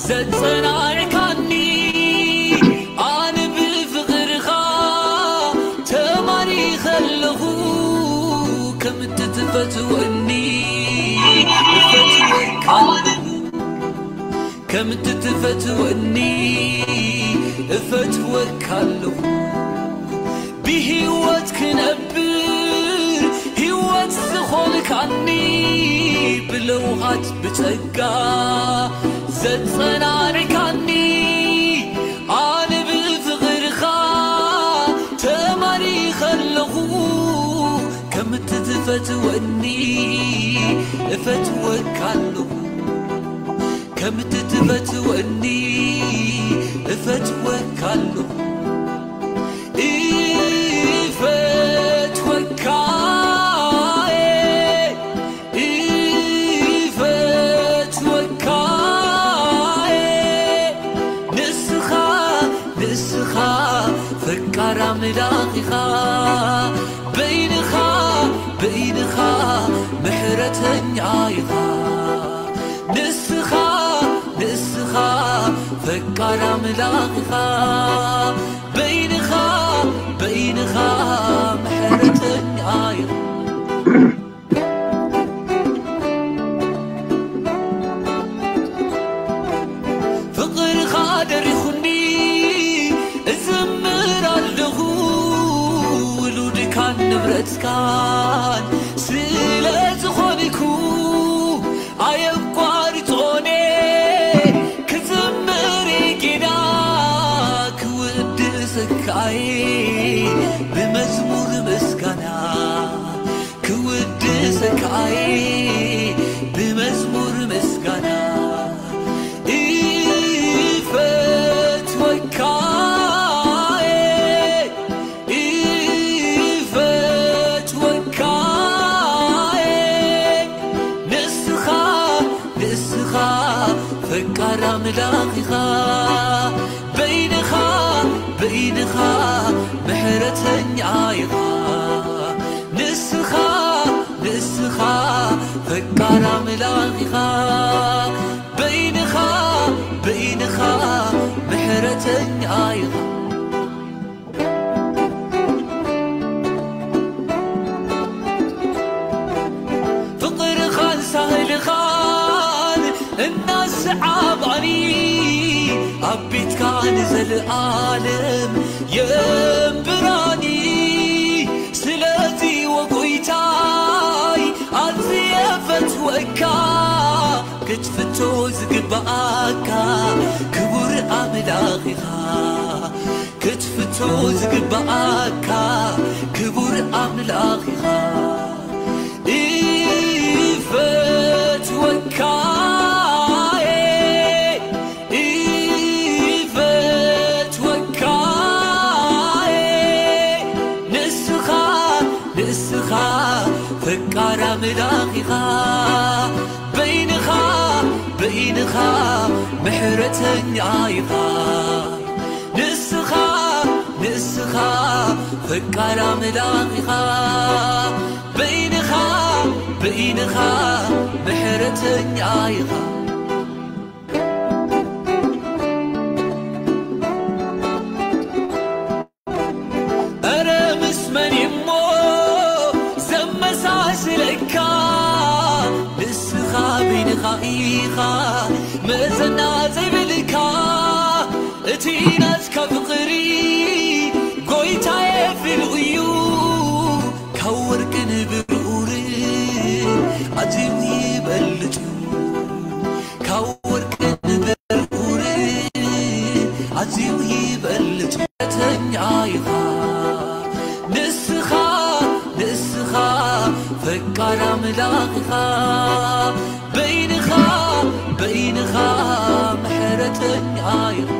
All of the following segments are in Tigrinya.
ዘጸናዕካኒ ኣነ ብፍቕርኻ ተማሪኸ ኣለኹ። ከም እትትፈትወኒ እፈትወካ ኣለኹ። ከም እትትፈትወኒ እፈትወካ ኣለኹ። ብህይወት ክነብር ህይወት ዝኾንካኒ ብለውሃት ብጸጋ ዘጸናንዕካኒ ኣነ ብፍቕርኻ ተማሪኸ ኣለኹ። ከም እትትፈትወኒ እፈትወካ ኣለኹ። ከም እትትፈትወኒ እፈትወካ ኣለኹ። እፈትወካ፣ እፈትወካ፣ ንስኻ፣ ንስኻ ፈቃር ኣምላኽ ኢኻ። በይንኻ፣ በይንኻ ምሕረተኛ ኢኻ። ንስኻ፣ ንስኻ ፈቃር ኣምላኽ ኢኻ። በይንኻ፣ በይንኻ ምሕረተኛ ኢኻ። ፍቕርኻ ደሪኹኒ እዝምር ኣለኹ። ውሉድካን ንብረትካን ስለ ዝኾንኩ ኣየቋርጾኔ ክዝምር ጌና ክውድሰካይ ብመዝሙር ምስጋና ክውድሰካይ ብመዝሙር ምስጋና እፈትወካ እፈትወካ ንስኻ ንስኻ ፈቃር ኣምላኽ ኢኻ በይንኻ በይንኻ ምሕረተኛ ኢኻ ንስኻ ንስኻ ፈቃር ኣምላኽ ኢኻ በይንኻ በይንኻ ምሕረተኛ ኢኻ ፍቕርኻን ሳህልኻን እናሰዓባኒ ኣብ ቤትካ ንዘለኣለም የንብራኒ ስለዚ ወጎይታይ ኣዝየ ፈትወካ ክትፍቶ ዝግባኣካ ክቡር ኣምላኽ ኢኻ ክትፍቶ ዝግባኣካ ክቡር ኣምላኽ ኢኻ እፈትወካ እፈትወካ ንስኻ ንስኻ ፈቃር ኣምላኽ ኢኻ በይንኻ በይንኻ ምሕረተኛ ኢኻ ንስኻ ንስኻ ፈቃር ኣምላኽ ኢኻ በይንኻ በይንኻ ምሕረተኛ ኢኻ እረ ምስ መን እሞ ዘመሳስለካ ንስኻ በይንኻ ኢኻ መዘና ዘይብልካ እቲ ናትካ ፍቕሪ ጎይታየ ፍሉይ እዩ ካብ ወርቅን ብሩርን ኣዝዩ ይበልጽ እዩ ካብ ወርቅን ብሩርን ኣዝዩ ይበልጽ እውነተኛ ኢኻ ንስኻ ንስኻ ፈቃር ኣምላኽ ኢኻ በይንኻ በይንኻ ምሕረተኛ ኢኻ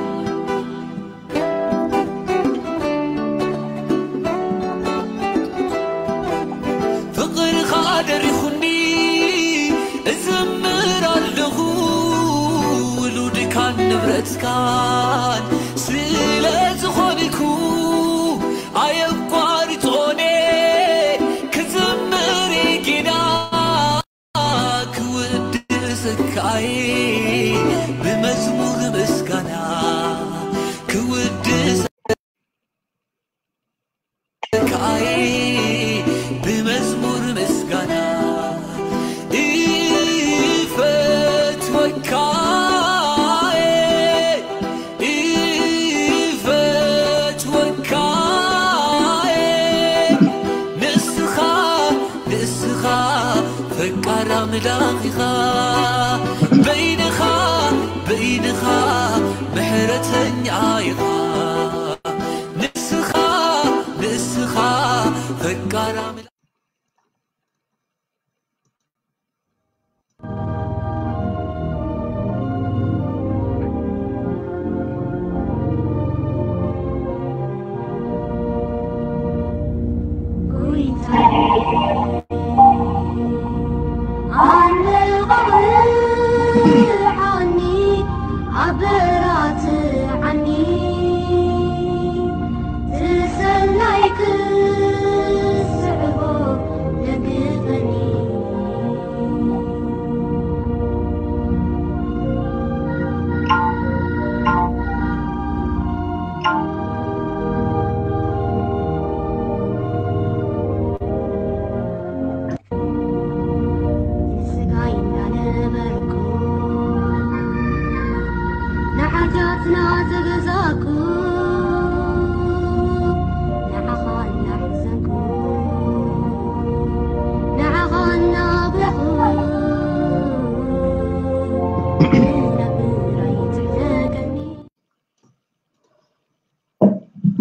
ፍቕርኻ ደሪኹኒ እዝምር ኣለኹ ውሉድካን ንብረትካን ስለ ዝኾንኩ ኣየቋርጾኔ ክዝምር ጌና ክውድስካይ ብመዝሙር ምስጋና ክውድስ ከኣይ ብመዝሙር ምስጋና እፈትወካ እፈትወካ ንስኻ ንስኻ ፈቃር ኣምላኽ ኢኻ በይንኻ በይንኻ ምሕረተኛ ኢኻ ንስኻ ንስኻ ፈቃር ኣምላኽ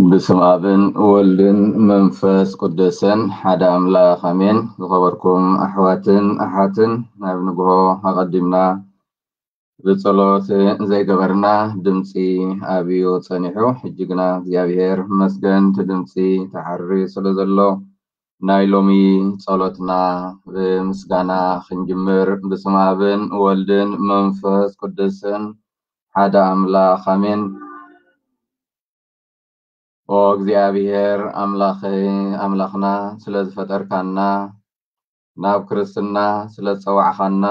ብስም ኣብን ወልድን መንፈስ ቅዱስን ሓደ ኣምላኽ ኣሜን። ዝኸበርኩም ኣሕዋትን ኣሓትን ናብ ንግሆ ኣቐዲምና ብጸሎት ዘይገበርና ድምፂ ኣብዩ ጸኒሑ። ሕጂ ግና እግዚኣብሔር መስገን እቲ ድምፂ ተሓሪ ስለ ዘሎ ናይ ሎሚ ጸሎትና ብምስጋና ክንጅምር። ብስም ኣብን ወልድን መንፈስ ቅዱስን ሓደ ኣምላኽ ኣሜን። ኦ እግዚኣብሔር ኣምላኽ ኣምላኽና ስለ ዝፈጠርካና ናብ ክርስትና ስለ ዝጸዋዕኻና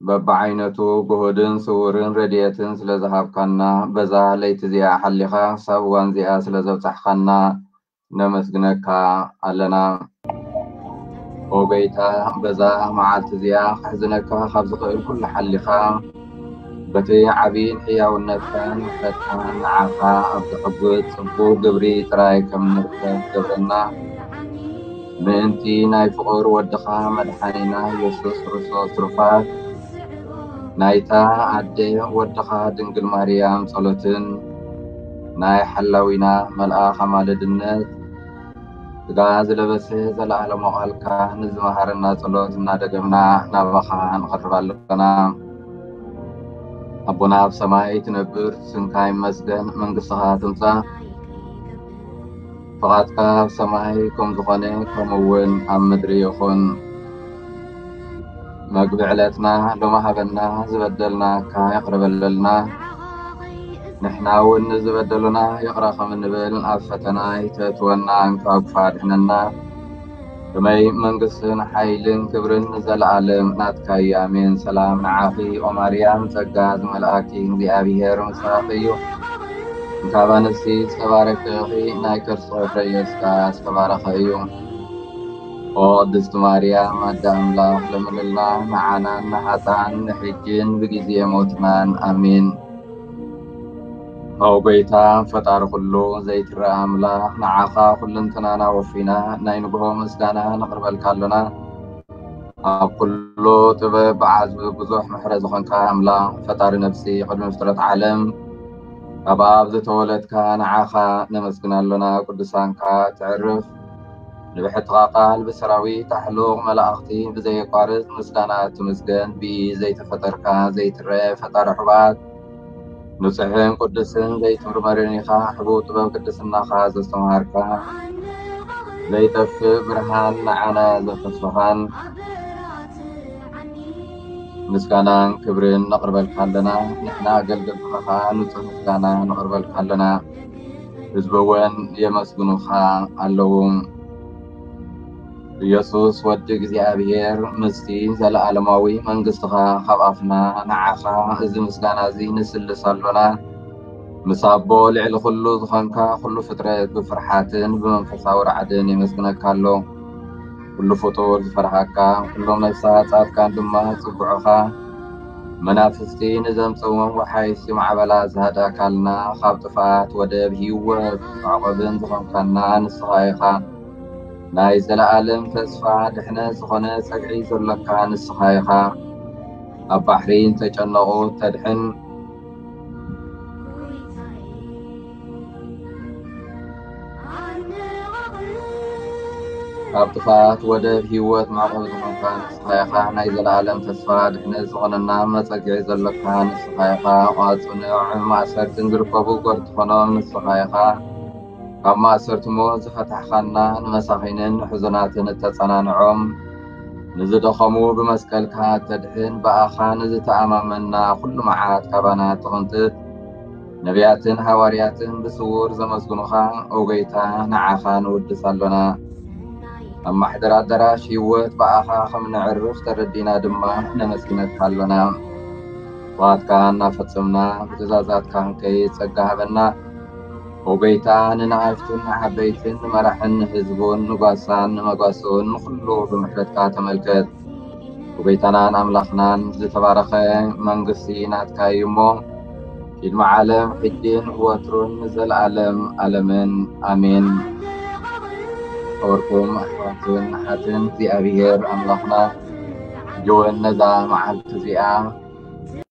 በብዓይነቱ ግሁድን ስውርን ረድኤትን ስለ ዝሃብካና በዛ ለይቲ እዚኣ ሓሊኻ ክሳብ እዋን እዚኣ ስለ ዘብጻሕኻና ነመስግነካ ኣለና። ኦ ጎይታ በዛ መዓልቲ እዚኣ ክሕዝነካ ካብ ዝኽእል ኩሉ ሓሊኻ በቲ ዓብይን ሕያውነትካን ምሕረትካን ንዓኻ ኣብ ዝሕጉስ ጽቡቕ ግብሪ ጥራይ ከም ንርከብ ገብረና። ምእንቲ ናይ ፍቑር ወድኻ መድሓኒና የሱስ ክርስቶስ ትሩፋት ናይታ ኣደ ወድኻ ድንግል ማርያም ጸሎትን ናይ ሓላዊና መልኣኽ ኣማልድነት ስጋ ዝለበሰ ዘለኣለማዊ ቃልካ ንዝመሃረና ጸሎት እናደገምና ናባኻ ንቐርብ ኣለና። ኣቦና ኣብ ሰማይ ትነብር፣ ስምካ ይመስገን፣ መንግስትኻ ትምጻእ፣ ፍቓድካ ኣብ ሰማይ ከም ዝኾነ ከምኡ እውን ኣብ ምድሪ ይኹን። መግቢ ዕለትና ሎሚ ሃበና፣ ዝበደልናካ ይቕረ በለልና፣ ንሕና እውን ንዝበደሉና ይቕረ ከም እንብል፣ ኣብ ፈተና ኣይተእትወና፣ ካብ ክፉእ ኣድሕነና። ከመይ መንግስትን ሓይልን ክብርን ንዘለኣለም ናትካ እዩ፣ ኣሜን። ሰላም ንዓኺ ኦ ማርያም፣ ጸጋ ዝመልኣኪ እግዚኣብሔር ምሳኺ እዩ፣ እንካብ ኣንስቲ ዝተባረከ ኢኺ፣ ናይ ከርስኺ ፍረ ኢየሱስ ከኣ ዝተባረኸ እዩ። ኦ ቅድስቲ ማርያም ኣደ ኣምላኽ ለምንልና ንዓናን ንሓጥኣን ንሕጅን ብግዜ ሞትናን ኣሜን። ኦ ጎይታ ፈጣሪ ኩሉ ዘይትረኣ ኣምላኽ ንዓኻ ኩልንትናና ወፊና ናይ ንግሆ ምስጋና ነቕርበልካ ኣሎና። ኣብ ኩሉ ጥበብ ብዓዝቢ ብዙሕ ምሕረት ዝኾንካ ኣምላኽ ፈጣሪ ነፍሲ ቅድሚ ፍጥረት ዓለም ካብ ኣብ ዝተወለድካ ንዓኻ ነመስግን ኣሎና። ቅዱሳንካ ትዕርፍ ንብሕትኻ ቃል ብሰራዊት ኣሕሉቕ መላእኽቲ ብዘየቋርጽ ምስጋና ትምስገን። ብኢ ዘይተፈጠርካ ዘይትረአ ፈጣሪ ሕቡኣት ንጹሕን ቅዱስን ዘይትምርመርን ኢኻ። ሕቡእ ጥበብ ቅድስናኻ ዘስተምሃርካ ዘይጠፍእ ብርሃን ንዓና ዘፍሰስኻን ምስጋናን ክብርን ነቕርበልካ ኣለና። ንሕና ኣገልገልትኻ ኸኣ ንጹህ ምስጋና ነቕርበልካ ኣለና። ህዝቢ እውን የመስግኑኻ ኣለዉ። ኢየሱስ ወዲ እግዚኣብሔር፣ ምስቲ ዘለዓለማዊ መንግስትኻ ካብ ኣፍና ንዓኻ እዚ ምስጋና እዚ ንስልስ ኣሎና። ምስ ኣቦ ልዕሊ ኩሉ ዝኾንካ፣ ኩሉ ፍጥረት ብፍርሓትን ብመንፈሳዊ ራዕድን የመስግነካ ኣሎ። ኩሉ ፍጡር ዝፈርሃካ፣ ኩሎም ነፍሳት ጻድቃን ድማ ጽግዑኻ። መናፍስቲ ንዘምጽእዎም ወሓይሲ ማዕበላ ዝሃዳካልና፣ ካብ ጥፍኣት ወደብ ህይወት መዕቆብን ዝኾንካና ንስኻ ኢኻ። ናይ ዘለኣለም ተስፋ ድሕነት ዝኾነ ጸግዒ ዘሎካ ንስኻ ኢኻ። ኣብ ባሕሪ ንተጨነቑ ተድሕን፣ ካብ ጥፍኣት ወደብ ህይወት መዕቆብ ዝኾንካ ንስኻ ኢኻ። ናይ ዘለኣለም ተስፋ ድሕነት ዝኾነና መጸግዒ ዘሎካ ንስኻ ኢኻ። ቋጽንዕ ማእሰርትን ዝርከቡ ጎርትኾኖም ንስኻ ኢኻ። ካብ ማእሰርትሞ ዝፈታሕኻና፣ ንመሳኺንን ንሕዙናትን እተጸናንዖም፣ ንዝደኸሙ ብመስቀልካ ተድሕን፣ ብኣኻ ንዝተኣማመንና ኩሉ መዓት ካባና ትቕንጥጥ። ነቢያትን ሃዋርያትን ብስውር ዘመስግኑኻ፣ ኦ ጎይታ፣ ንዓኻ ንውድስ ኣሎና። ኣብ ማሕደር ኣዳራሽ ህይወት ብኣኻ ከም ነዕርፍ ተረዲና ድማ ነመስግነካ ኣሎና። ዋትካ እናፈጸምና ብትእዛዛትካ ክንከይድ ጸጋ ሃበና። ኦ ጎይታ፣ ንንኣሽቱን ንዓበይትን፣ ንመራሕን ንህዝቡን፣ ንጓሳን ንመጓስኡን ንኹሉ ብምሕረትካ ተመልከት። ኦ ጎይታናን ኣምላኽናን፣ ዝተባረኸ መንግስቲ ናትካ እዩ እሞ፣ ቅድሚ ዓለም ሕጂን ወትሩን ንዘለኣለም ኣለምን። ኣሜን። ክቡርኩም ኣሕዋትን ኣሓትን፣ እግዚኣብሔር ኣምላኽና ሕጂ እውን ነዛ መዓልቲ እዚኣ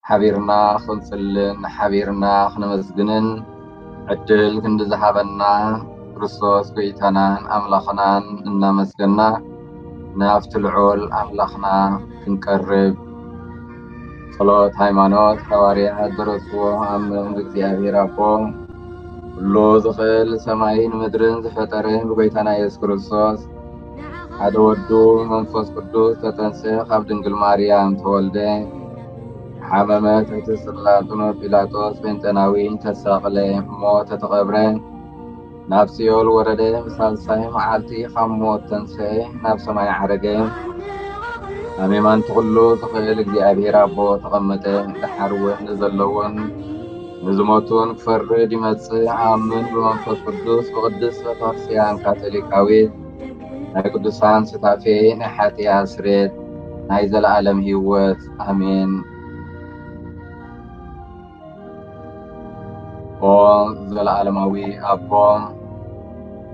ሓቢርና ክንጽልን ሓቢርና ክነመስግንን ዕድል ክንዲ ዝሃበና ክርስቶስ ጎይታናን ኣምላኽናን እናመስገና፣ ናብቲ ልዑል ኣምላኽና ክንቀርብ። ጸሎት ሃይማኖት። ሃዋርያት ደረስዎ። ኣምን ብእግዚኣብሔር ኣቦ፣ ኩሉ ዝኽእል ሰማይን ምድርን ዝፈጠረ፣ ብጎይታና የሱስ ክርስቶስ ሓደ ወዱ መንፈስ ቅዱስ ተጠንሰ፣ ካብ ድንግል ማርያም ተወልደ፣ ሓመመ፣ ትሕቲ ጽላሎት ጲላጦስ ጴንጠናዊ ተሰቕለ፣ ሞተ፣ ተቐብረ፣ ናብ ሲኦል ወረደ፣ ብሳልሳይ መዓልቲ ካብ ሞት ተንስኤ፣ ናብ ሰማይ ዓረገ፣ ኣብ የማን ኩሉ ዝኽእል እግዚኣብሔር ኣቦ ተቐመጠ። ደሓር እውን ንዘለውን ንዝሞቱን ክፈርድ ይመጽእ። ኣምን ብመንፈስ ቅዱስ፣ ብቅድስት ቤተክርስትያን ካቶሊካዊት፣ ናይ ቅዱሳን ሱታፌ፣ ናይ ሓጢኣት ስርየት፣ ናይ ዘለኣለም ህይወት። ኣሜን። ኦ ዘለኣለማዊ ኣቦ፣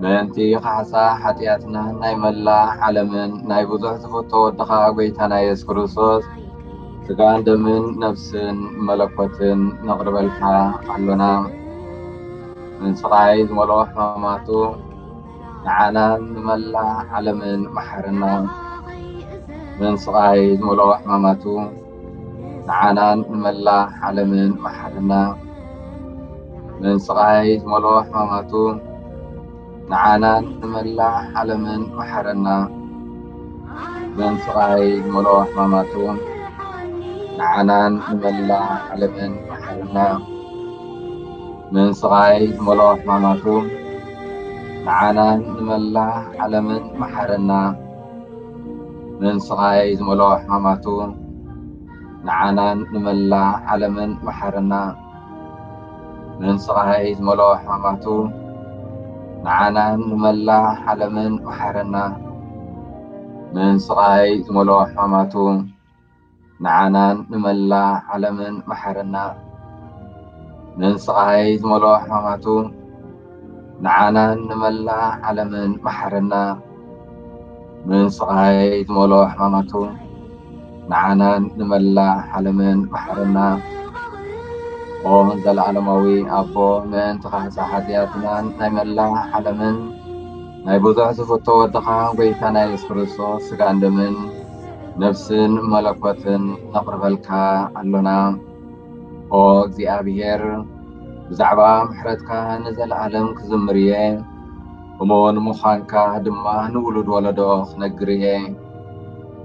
ምእንቲ ካሕሳ ሓጢኣትና ናይ መላእ ዓለምን ናይ ብዙሕ ዝፈቶ ወድኻ ጎይታና የሱስ ክርስቶስ ስጋን ደምን ነፍስን መለኮትን ነቕርበልካ ኣሎና። ምን ስቓይ ዝመልኦ ሕማማቱ ንዓናን ንመላእ ዓለምን መሓረና። ምን ስቓይ ዝመልኦ ሕማማቱ ንዓናን ንመላእ ዓለምን መሓረና። ምን ስቓይ ዝመልኦ ሕማማቱ ንዓናን ንመላእ ዓለምን መሓረና። ምን ስቓይ ዝመልኦ ሕማማቱ ንዓናን ንመላእ ዓለምን መሓረና። ምን ስቓይ ዝመልኦ ሕማማቱ ንዓናን ንመላእ ዓለምን መሓረና። ምን ስቓይ ዝመልኦ ሕማማቱ ንዓናን ንመላእ ዓለምን መሓረና። ምን ስቓይ ዝመልኦ ሕማማቱ ንዓናን ንመላእ ዓለምን መሓረና። ምን ስቓይ ዝመልኦ ሕማማቱ ንዓናን ንመላእ ዓለምን መሓረና። ምን ስቓይ ዝመልኦ ሕማማቱ ንዓናን ንመላእ ዓለምን መሓረና። ምን ስቓይ ዝመልኦ ሕማማቱ ንዓናን ንመላእ ዓለምን መሓረና። ኦ ዘለኣለማዊ ኣቦ፣ ምእንቲ ካሕሳ ሓጢኣትናን ናይ መላእ ዓለምን ናይ ብዙሕ ዝፍቶ ወድኻ ጎይታና የሱስ ክርስቶስ ስጋን ደምን ነፍስን መለኮትን ነቕርበልካ ኣሎና። ኦ እግዚኣብሔር፣ ብዛዕባ ምሕረትካ ንዘለኣለም ክዝምር እየ፣ እሙን ምዃንካ ድማ ንውሉድ ወለዶ ክነግር እየ።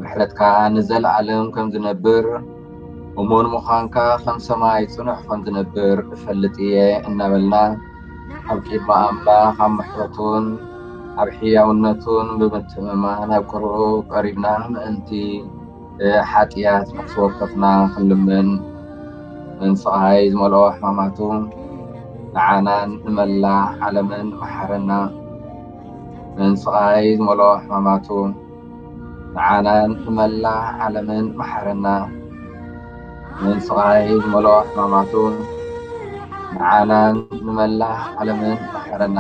ምሕረትካ ንዘለኣለም ከም ዝነብር፣ እሙን ምዃንካ ከም ሰማይ ጽኑዕ ከም ዝነብር እፈልጥ እየ እናበልና፣ ኣብ ቅድሚ ኣምላኽ ኣብ ምሕረቱን ኣብ ሕያውነቱን ብምትእምማን ኣብ ቅርኡ ቀሪብና ምእንቲ ሓጢኣት ነፍሲ ወከፍና ክንልምን፣ መንስቓይ ዝመልኦ ሕማማቱ ንዓናን ንመላእ ዓለምን መሓረና። መንስቓይ ዝመልኦ ሕማማቱ ንዓናን ንመላእ ዓለምን መሓረና። መንስቓይ ዝመልኦ ሕማማቱ ንዓናን ንመላእ ዓለምን መሓረና።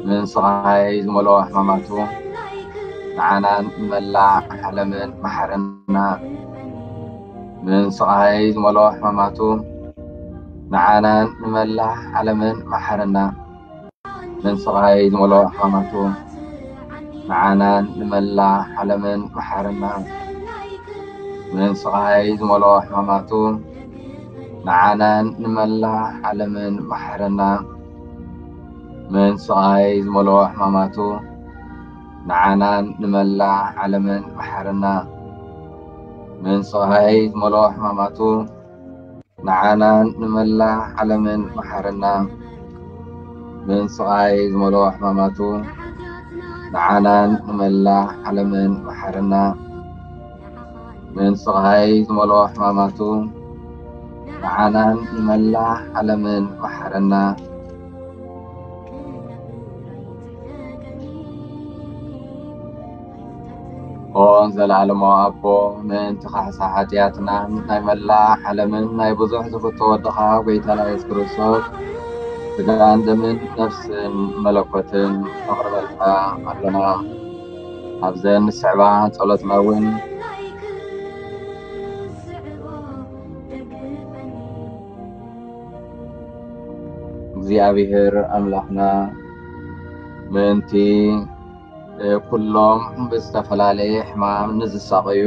መንስቓይ ዝመልኦ ሕማማቱ ንዓናን ንመላእ ዓለምን መሓረና። መንስቓይ ዝመልኦ ሕማማቱ ንዓናን ንመላእ ዓለምን መሓረና። መንስቓይ ዝመልኦ ሕማማቱ ንዓናን ንመላእ ዓለምን መሓረና። መንስቓይ ዝመልኦ ሕማማቱ ንዓናን ንመላእ ዓለምን መሓረና። መንስቓይ ዝመልኦ ሕማማቱ ንዓናን ንመላእ ዓለምን መሓረና። መንስቓይ ዝመልኦ ሕማማቱ ንዓናን ንመላእ ዓለምን መሓረና። መንስቓይ ዝመልኦ ሕማማቱ ንዓናን ንመላእ ዓለምን መሓረና። መንስቓይ ዝመልኦ ሕማማቱ ንዓናን ንመላእ ዓለምን መሓረና። ኦ ዘለዓለማዊ ኣቦ፣ ምእንቲ ካሕሳ ሓጢኣትናን ናይ መላእ ዓለምን ናይ ብዙሕ ዝፍቶ ወድኻ ጎይታና የሱስ ክርስቶስ፣ ስጋን ደምን ነፍስን መለኮትን ነቕርበልካ ኣሎና። ኣብዘን ንስዕባ ጸሎትና እውን እግዚኣብሔር ኣምላኽና ምእንቲ ኩሎም ብዝተፈላለየ ሕማም ንዝሳቐዩ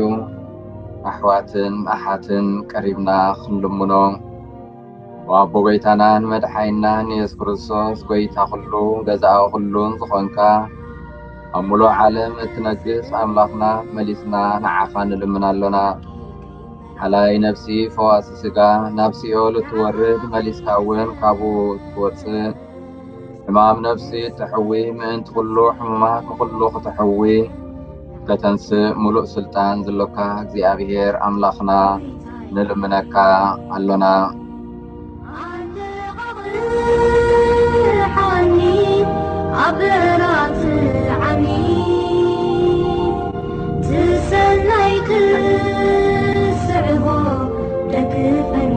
ኣሕዋትን ኣሓትን ቀሪብና ክንልምኖ። ወኣቦ ጎይታናን መድሓይናን የሱስ ክርስቶስ፣ ጎይታ ኩሉ፣ ገዛኢ ኩሉን ዝኾንካ፣ ኣብ ሙሉእ ዓለም እትነግስ ኣምላኽና፣ መሊስና ንዓኻ ንልምን ኣሎና። ሓላይ ነፍሲ፣ ፈዋሲ ስጋ፣ ናብ ሲኦል እትወርድ፣ መሊስካ እውን ካብኡ እትወጽእ፣ ሕማም ነፍሲ እትሕዊ፣ ምእንቲ ኩሉ ሕሙማት ንኹሉ ክትሕዊ ከተንስእ ሙሉእ ስልጣን ዘሎካ እግዚኣብሔር ኣምላኽና ንልምነካ ኣሎና። ሓኒ ኣብ ራት ዓሚ ትሰናይ ክስዕቦ ደግፈኒ።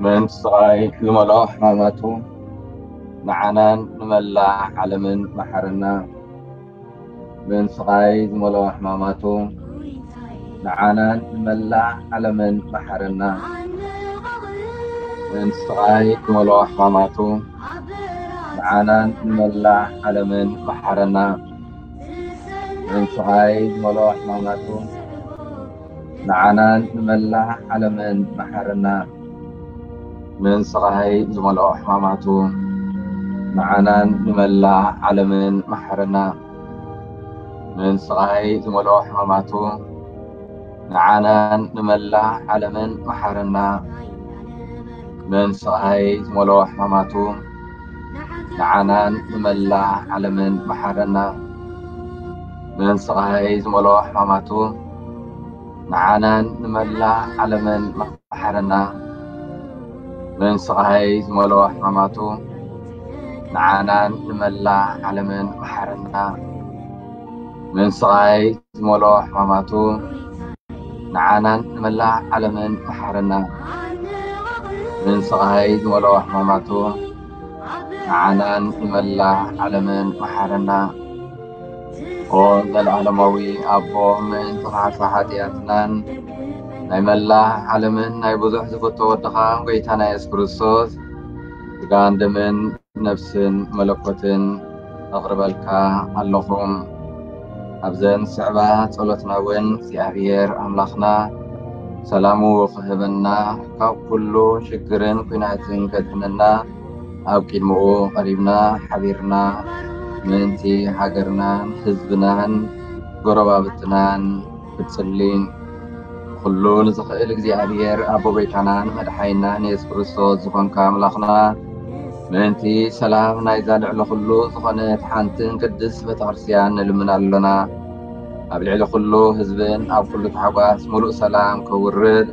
ምእንቲ ስቓይ ዝመልኦ ሕማማቱ ንዓናን ንመላእ ዓለምን መሓረና። ምእንቲ ስቓይ ዝመልኦ ሕማማቱ ንዓናን ንመላእ ዓለምን መሓረና። ምእንቲ ስቓይ ዝመልኦ ሕማማቱ ንዓናን ንመላእ ዓለምን መሓረና። ምእንቲ ስቓይ ዝመልኦ ሕማማቱ ንዓናን ንመላእ ዓለምን መሓረና። ምእንቲ ስቓይ ዝመልኦ ሕማማቱ ንዓናን ንመላእ ዓለምን መሓረና። ምእንቲ ስቓይ ዝመልኦ ሕማማቱ ንዓናን ንመላእ ዓለምን መሓረና። ምእንቲ ስቓይ ዝመልኦ ሕማማቱ ንዓናን ንመላእ ዓለምን መሓረና። ምእንቲ ስቓይ ዝመልኦ ሕማማቱ ንዓናን ንመላእ ዓለምን መሓረና። ምእንቲ ስቓይ ዝመልኦ ሕማማቱ ንዓናን ንመላእ ዓለምን መሓረና። ምእንቲ ስቓይ ዝመልኦ ሕማማቱ ንዓናን ንመላእ ዓለምን መሓረና። ምእንቲ ስቓይ ዝመልኦ ሕማማቱ ንዓናን ንመላእ ዓለምን መሓረና። ኦ ዘለዓለማዊ ኣቦ፣ ምእንቲ ካሕሳ ሓጢኣትናን ናይ መላእ ዓለምን ናይ ብዙሕ ዝፍቶ ወድኻ ጎይታና የሱስ ክርስቶስ ስጋን ደምን ነፍስን መለኮትን ኣቕርበልካ ኣለኹ። ኣብዘን ስዕባ ጸሎትና እውን እግዚኣብሔር ኣምላኽና ሰላሙ ክህበና፣ ካብ ኩሉ ሽግርን ኲናትን ከድሕነና፣ ኣብ ቅድምኡ ቀሪብና ሓቢርና ምእንቲ ሃገርናን ህዝብናን ጎረባብትናን ክንጽሊ። ኩሉ ንዝኽእል እግዚኣብሔር ኣቦ ጎይታናን መድሓኒናን የሱስ ክርስቶስ ዝኾንካ ኣምላኽና፣ ምእንቲ ሰላም ናይዛ ልዕሊ ኩሉ ዝኾነት ሓንትን ቅድስት ቤተክርስትያን ንልምን ኣሎና። ኣብ ልዕሊ ኩሉ ህዝብን ኣብ ኩሉ ታሕጓስ ምሉእ ሰላም ከውርድ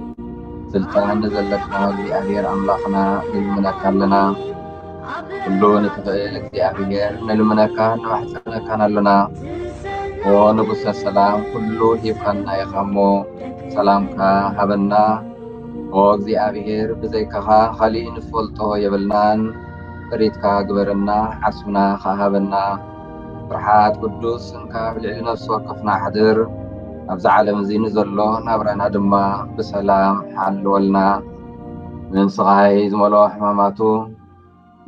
ስልጣን ንዘለካ እግዚኣብሔር ኣምላኽና ንልምነካ ኣለና። ኩሉ ንትኽእል እግዚኣብሔር ንልምነካን ንማሕጸነካን ኣሎና። ኦ ንጉሰ ሰላም፣ ኩሉ ሂብካና ኢኻ እሞ ሰላምካ ሃበና። ኦ እግዚኣብሔር፣ ብዘይካኻ ካሊእ ንፈልጦ የብልናን። ጥሪትካ ግበረና፣ ዓስብና ከኣ ሃበና። ፍርሓት ቅዱስ ስምካ ኣብ ልዕሊ ነፍሲ ወከፍና ኣሕድር። ኣብዚ ዓለም እዚ ንዘሎ ናብራና ድማ ብሰላም ሓልወልና። ምን ስቓይ ዝመልኦ ሕማማቱ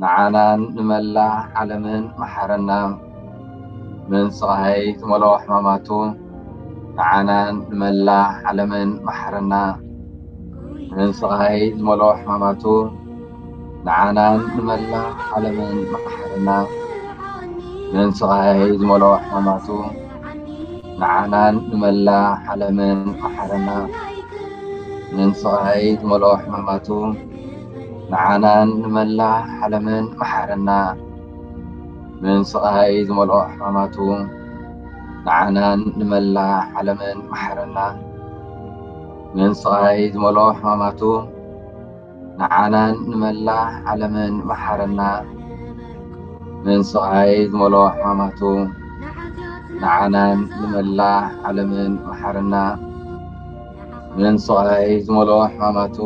ንዓናን ንመላእ ዓለምን መሓረና። ምን ስቓይ ዝመልኦ ሕማማቱ ንዓናን ንመላእ ዓለምን መሓረና። ምን ስቓይ ዝመልኦ ሕማማቱ ንዓናን ንመላእ ዓለምን መሓረና። ምን ስቓይ ዝመልኦ ሕማማቱ ንዓናን ንመላእ ዓለምን መሓረና። ምን ስቓይ ዝመልኦ ሕማማቱ ንዓናን ንመላእ ዓለምን መሓረና። ምን ስቓይ ዝመልኦ ሕማማቱ ንዓናን ንመላእ ዓለምን መሓረና። ምን ስቓይ ዝመልኦ ሕማማቱ ንዓናን ንመላእ ዓለምን መሓረና። ምን ስቓይ ዝመልኦ ሕማማቱ ንዓናን ንመላእ ዓለምን መሓረና። ምን ስቓይ ዝመልኦ ሕማማቱ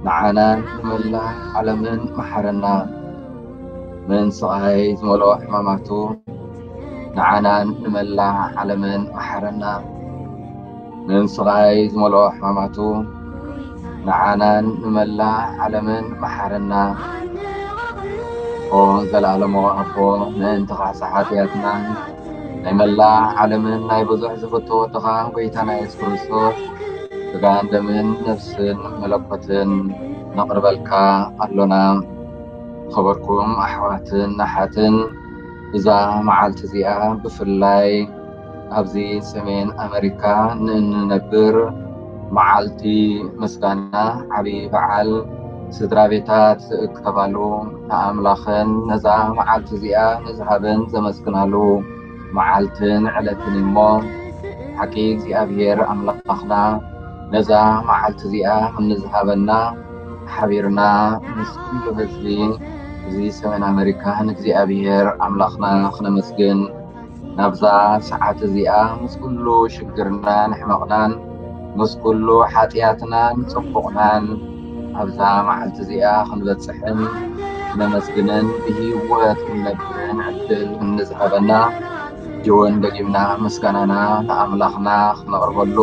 ንዓናን ንመላእ ዓለምን መሓረና። ምን ስቓይ ዝመልኦ ሕማማቱ ንዓናን ንመላእ ዓለምን መሓረና። ምን ስቓይ ዝመልኦ ሕማማቱ ንዓናን ንመላእ ዓለምን መሓረና። ኦ ዘለኣለማዊ ኣቦ፣ ምእንቲ ካሕሳ ሓጢኣትናን ናይ መላእ ዓለምን ናይ ብዙሕ ዝፍቶ ወድኻ ጎይታና የሱስ ክርስቶስ ስጋን ደምን ነፍስን መለኮትን ነቕርበልካ ኣሎና። ዝኸበርኩም ኣሕዋትን ኣሓትን፣ እዛ መዓልቲ እዚኣ ብፍላይ ኣብዚ ሰሜን ኣመሪካ ንእንነብር መዓልቲ ምስጋና፣ ዓቢ በዓል ስድራ ቤታት ዝእከባሉ፣ ንኣምላኽን ነዛ መዓልቲ እዚኣ ንዝሃበን ዘመስግናሉ መዓልትን ዕለትን እሞ፣ ሓቂ እግዚኣብሔር ኣምላኽና ነዛ መዓልቲ እዚኣ ንዝሃበና ሓቢርና ምስ ኩሉ ህዝቢ እዚ ሰሜን ኣመሪካ ንእግዚኣብሔር ኣምላኽና ክነመስግን፣ ናብዛ ሰዓት እዚኣ ምስ ኩሉ ሽግርናን ሕመቕናን ምስ ኩሉ ሓጢኣትናን ጽቡቕናን ኣብዛ መዓልቲ እዚኣ ክንበጽሕን ክነመስግንን ብህይወት ክንነብርን ዕድል ንዝሃበና ጅውን ደጊምና ምስጋናና ንኣምላኽና ክነቕርበሉ፣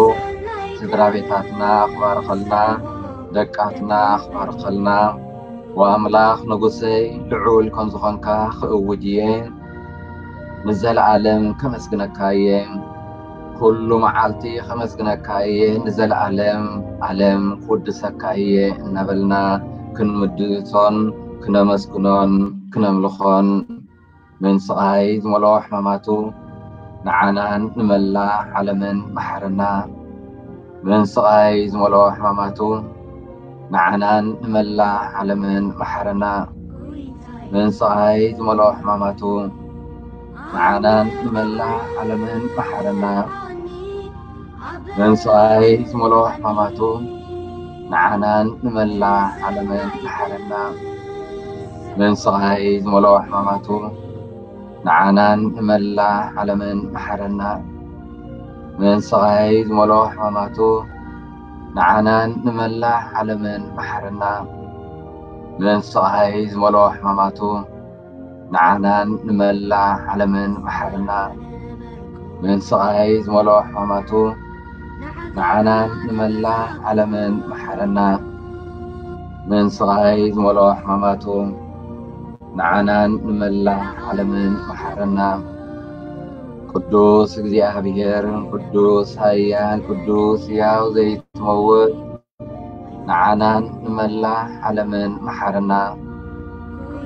ስድራ ቤታትና ክባርኸልና፣ ደቃትና ክባርኸልና፣ ወኣምላኽ ንጉሰይ ልዑል ከም ዝኾንካ ክእውጅ እየ። ንዘለኣለም ከመስግነካ እየ። ኩሉ መዓልቲ ከመስግነካ እየ፣ ንዘለኣለም ኣለም ክውድሰካ እየ እናበልና ክንምድሶን ክነመስግኖን ክነምልኾን። ምን ስቓይ ዝመልኦ ሕማማቱ ንዓናን ንመላእ ዓለምን መሓረና። ምን ስቓይ ዝመልኦ ሕማማቱ ንዓናን ንመላእ ዓለምን መሓረና። ምን ስቓይ ዝመልኦ ሕማማቱ ንዓናን ንመላእ ዓለምን መሓረና። ምን ስቓይ ዝመልኦ ሕማማቱ ንዓናን ንመላእ ዓለምን መሓረና። ምን ስቓይ ዝመልኦ ሕማማቱ ንዓናን ንመላእ ዓለምን መሓረና። ምን ስቓይ ዝመልኦ ሕማማቱ ንዓናን ንመላእ ዓለምን መሓረና። ምን ስቓይ ዝመልኦ ሕማማቱ ንዓናን ንመላእ ዓለምን መሓረና። ምን ስቓይ ዝመልኦ ሕማማቱ ንዓናን ንመላእ ዓለምን መሓረና። ምን ስቓይ ዝመልኦ ሕማማቱ ንዓናን ንመላእ ዓለምን መሓረና። ቅዱስ እግዚኣብሔር፣ ቅዱስ ኃያል፣ ቅዱስ ሕያው ዘይት ዘይትመውት፣ ንዓናን ንመላእ ዓለምን መሓረና።